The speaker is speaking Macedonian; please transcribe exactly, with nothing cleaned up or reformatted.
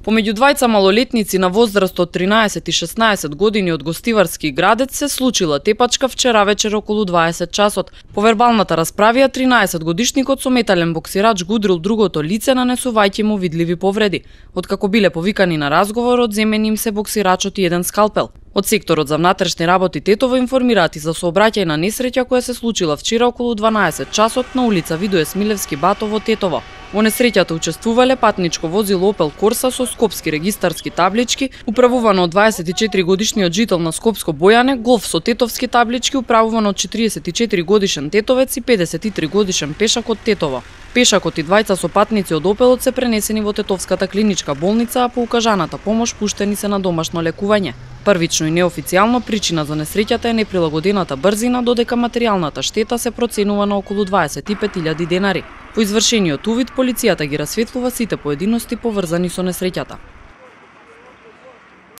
Помеѓу двајца малолетници на возраст од тринаесет и шеснаесет години од Гостиварски градец се случила тепачка вчера вечер околу дваесет часот. По вербалната расправија тринаесетгодишникот со метален боксирач го удрил другото лице, нанесувајќи му видливи повреди. Откако биле повикани на разговор, одземен им се боксирачот и еден скалпел. Од секторот за внатрешни работи Тетово информираат и за сообраќајна несреќа која се случила вчера околу дванаесет часот на улица Видое Смилевски Батово, Тетово. Во несреќата учествувале патничко возило Opel Corsa со скопски регистарски таблички, управувано од дваесет и четири годишниот жител на Скопско Бојане, Голф со тетовски таблички, управувано од четириесет и четири годишен тетовец и педесет и три годишен пешак од Тетово. Пешакот и двајца со патници од Опелот се пренесени во Тетовската клиничка болница, а по укажаната помош пуштени се на домашно лекување. Првично и неофицијално причина за несреќата е неприлагодената брзина, додека материјалната штета се проценува на околу дваесет и пет илјади денари. По извршениот увид, полицијата ги расветлува сите поединости поврзани со несреќата.